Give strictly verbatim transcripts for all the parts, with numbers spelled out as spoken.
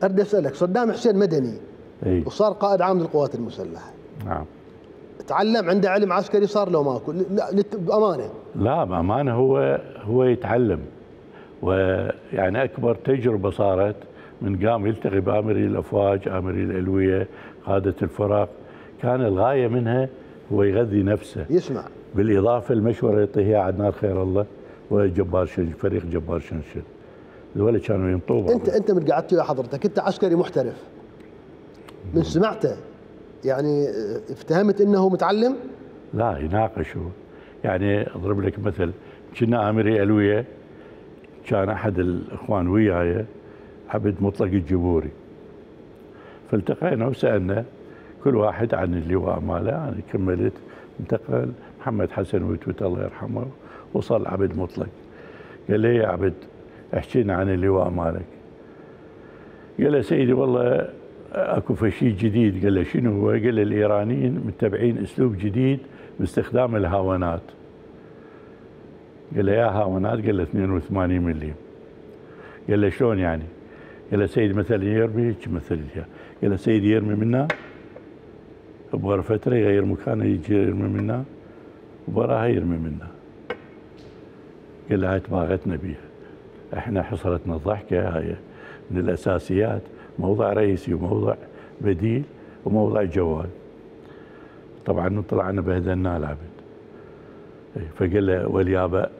اريد اسالك، صدام حسين مدني اي وصار قائد عام للقوات المسلحه. نعم. تعلم، عنده علم عسكري صار لو ماكو؟ لا بامانه. لا بامانه هو هو يتعلم، ويعني اكبر تجربه صارت من قام يلتقي بامري الافواج، امري الالويه، قاده الفرق، كان الغايه منها هو يغذي نفسه، يسمع، بالاضافه المشوره يعطيها عدنان خير الله وجبار شنشل، فريق جبار شنشل، ذولا كانوا ينطوا. انت انت من قعدت ويا حضرتك انت عسكري محترف، من سمعته يعني افتهمت انه متعلم؟ لا يناقشوا، يعني اضرب لك مثل، كنا امري الويه كان احد الاخوان وياي عبد مطلق الجبوري، فالتقينا وسالنا كل واحد عن اللواء ماله، انا كملت، انتقل محمد حسن وتوت الله يرحمه، وصل عبد مطلق. قال لي يا عبد احكي لنا عن اللواء مالك. قال له سيدي والله اكو شيء جديد. قال له شنو هو؟ قال له الايرانيين متبعين اسلوب جديد باستخدام الهاونات. قال له يا هاونات؟ قال له اثنين وثمانين ملي. قال له شلون يعني؟ قال له سيدي مثلا يرمي هيك مثل، قال له سيدي يرمي منا بغير فتره يغير مكانه يجي يرمي منا وبراها يرمي منا. قال له هاي تباغتنا بيها، احنا حصلتنا الضحكه، هاي من الاساسيات، موضع رئيسي وموضع بديل وموضع جوال. طبعا طلعنا بهدلناه العبد. فقال له واليابا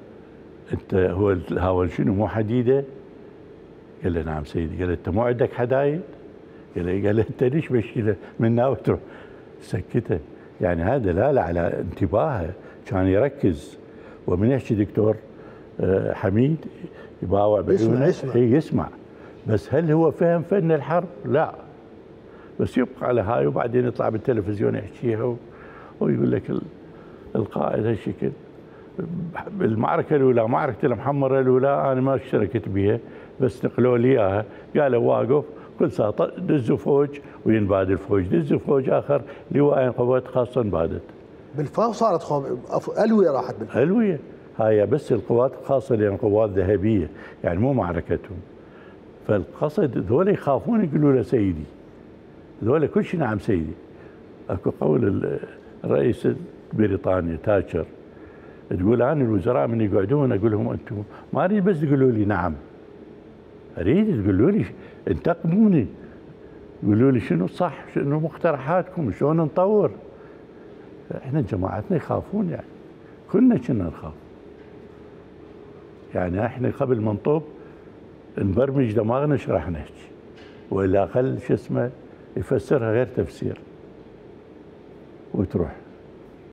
انت هو الهاون شنو مو حديده؟ قال له نعم سيدي. قال له انت مو عندك حدايد؟ قال له قال له انت ليش بشيله منها وتروح؟ سكته، يعني هذا دلاله على انتباهه، كان يركز. ومن يحكي دكتور حميد يباوع بعيونه، يسمع, يسمع يسمع، بس هل هو فهم فن الحرب؟ لا، بس يبقى على هاي، وبعدين يطلع بالتلفزيون يحكيها ويقول لك القائد هالشكل. بالمعركه الاولى، معركه المحمره الاولى، انا ما اشتركت بها بس نقلوا لي اياها، قالوا واقف كل ساعه دزوا فوج وينباد الفوج، دزوا فوج اخر لواء قوات خاصه انبادت. بالفاو صارت خوف الويه، راحت بالفاو. الويه هاي بس القوات الخاصه لان قوات ذهبيه، يعني مو معركتهم. فالقصد ذولا يخافون يقولوا له سيدي، ذولا كل شيء نعم سيدي. اكو قول الرئيس بريطانيا تاتشر تقول انا الوزراء من يقعدون اقول لهم انتم ما اريد بس تقولوا لي نعم، اريد تقولوا لي انتقدوني، قولوا لي شنو صح، شنو مقترحاتكم، شلون نطور. احنا جماعتنا يخافون، يعني كلنا كنا نخاف. يعني احنا قبل ما نطب نبرمج دماغنا ايش راح نحكي، والا اقل شو اسمه يفسرها غير تفسير وتروح.